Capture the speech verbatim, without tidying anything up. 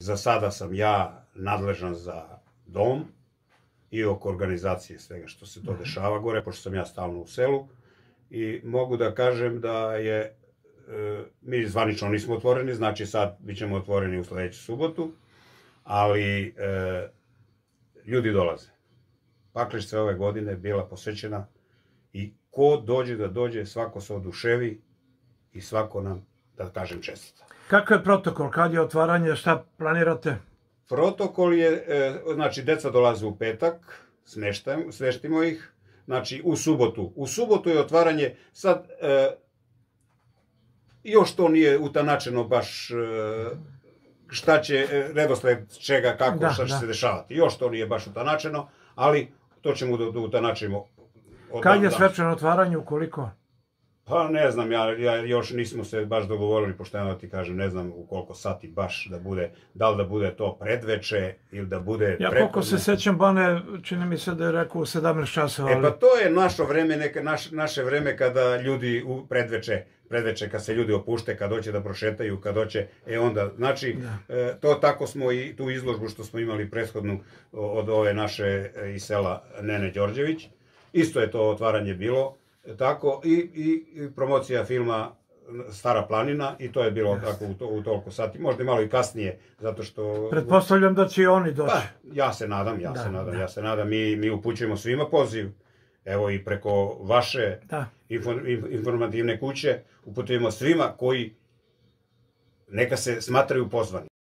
Za sada sam ja nadležan za dom i oko organizacije svega što se to dešava gore, pošto sam ja stalno u selu. I mogu da kažem da je, mi zvanično nismo otvoreni, znači sad bit ćemo otvoreni u sledeću subotu, ali ljudi dolaze. Paklišnica ove godine bila posvećena i ko dođe da dođe, svako se oduševi i svako nam, da kažem, čestita. Kakav je protokol? Kad je otvaranje? Šta planirate? Protokol je, znači, deca dolaze u petak, smeštimo ih, znači, u subotu. U subotu je otvaranje, sad, još to nije utanačeno baš šta će, redosled čega, kako, šta će se dešavati. Još to nije baš utanačeno, ali to ćemo da utanačimo. Kad je svečano otvaranje, ukoliko? Pa ne znam, ja još nismo se baš dogovorili, pošteno ti kažem, ne znam u koliko sati baš da bude, da li da bude to predveče ili da bude prepodne. Ja koliko se sećam, Bane, čini mi se da je rekao u sedamnaest časova. E pa to je naše vreme, naše vreme kada ljudi u predveče, predveče kad se ljudi opušte, kad hoće da prošetaju, kad hoće, e onda, znači, to tako smo i tu izložbu što smo imali prethodnu od ove naše iz sela Nene Đorđević, isto je to otvaranje bilo. Tako, i promocija filma Stara planina, i to je bilo tako u toliko sati, možda i malo i kasnije, zato što... Pretpostavljam da će i oni doći. Pa, ja se nadam, ja se nadam, ja se nadam, mi upućujemo svima poziv, evo i preko vaše informativne kuće, uputujemo svima koji neka se smatraju pozvani.